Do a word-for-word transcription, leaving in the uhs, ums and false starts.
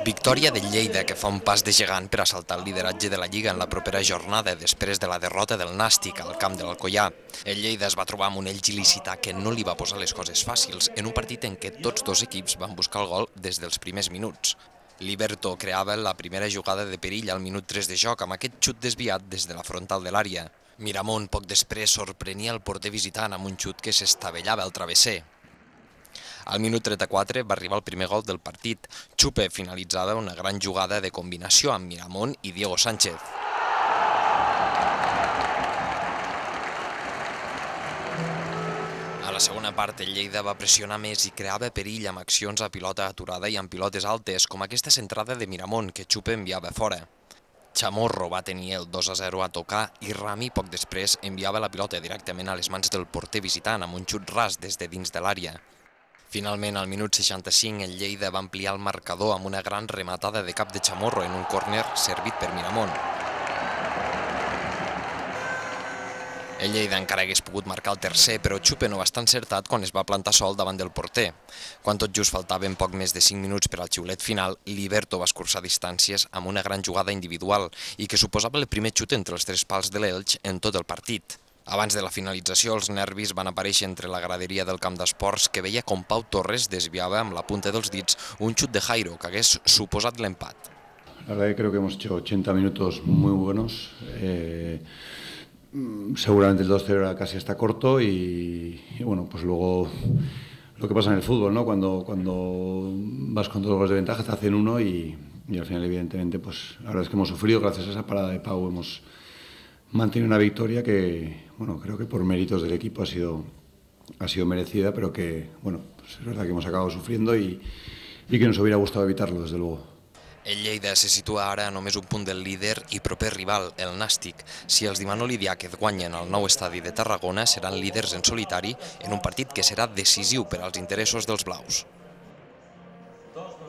Victòria del Lleida, que fa un pas de gegant per assaltar el lideratge de la Lliga en la propera jornada després de la derrota del Nàstic al camp de l'Alcoià. El Lleida es va trobar amb un Elx il·licità que no li va posar les coses fàcils en un partit en què tots dos equips van buscar el gol des dels primers minuts. Liberto creava la primera jugada de perill al minut tres de joc amb aquest xut desviat des de la frontal de l'àrea. Miramón poc després sorprenia el porter visitant amb un xut que s'estavellava al travesser. Al minut trenta-quatre va arribar el primer gol del partit. Chupe finalitzava una gran jugada de combinació amb Miramón i Diego Sánchez. A la segona part, el Lleida va pressionar més i creava perill amb accions a pilota aturada i amb pilotes altes, com aquesta centrada de Miramón, que Chupe enviava fora. Chamorro va tenir el dos a zero a tocar i Rami poc després enviava la pilota directament a les mans del porter visitant amb un xut ras des de dins de l'àrea. Finalment, al minut seixanta-cinc, el Lleida va ampliar el marcador amb una gran rematada de cap de Chamorro en un córner servit per Miramón. El Lleida encara hagués pogut marcar el tercer, però Chupe no va estar encertat quan es va plantar sol davant del porter. Quan tot just faltaven poc més de cinc minuts per al xiulet final, Liberto va escurçar distàncies amb una gran jugada individual i que suposava el primer xut entre els tres pals de l'Elx en tot el partit. Abans de la finalització, els nervis van aparèixer entre la graderia del camp d'esports que veia com Pau Torres desviava amb la punta dels dits un xut de Jairo que hagués suposat l'empat. La verdad que creo que hemos hecho ochenta minutos muy buenos. Eh, seguramente el dos cero era casi hasta corto y, y bueno, pues luego lo que pasa en el fútbol, ¿no? Cuando, cuando vas con dos goles de ventaja te hacen uno y, y al final evidentemente pues la verdad es que hemos sufrido. Gracias a esa parada de Pau hemos mantenido una victoria que, bueno, creo que por méritos del equipo ha sido, ha sido merecida, pero que, bueno, pues es verdad que hemos acabado sufriendo y, y que nos hubiera gustado evitarlo, desde luego. El Lleida se situa ara a només un punt del líder i proper rival, el Nàstic. Si els Dimanoli Diáquez guanyen al nou estadi de Tarragona, seran líders en solitari en un partit que serà decisiu per als interessos dels blaus.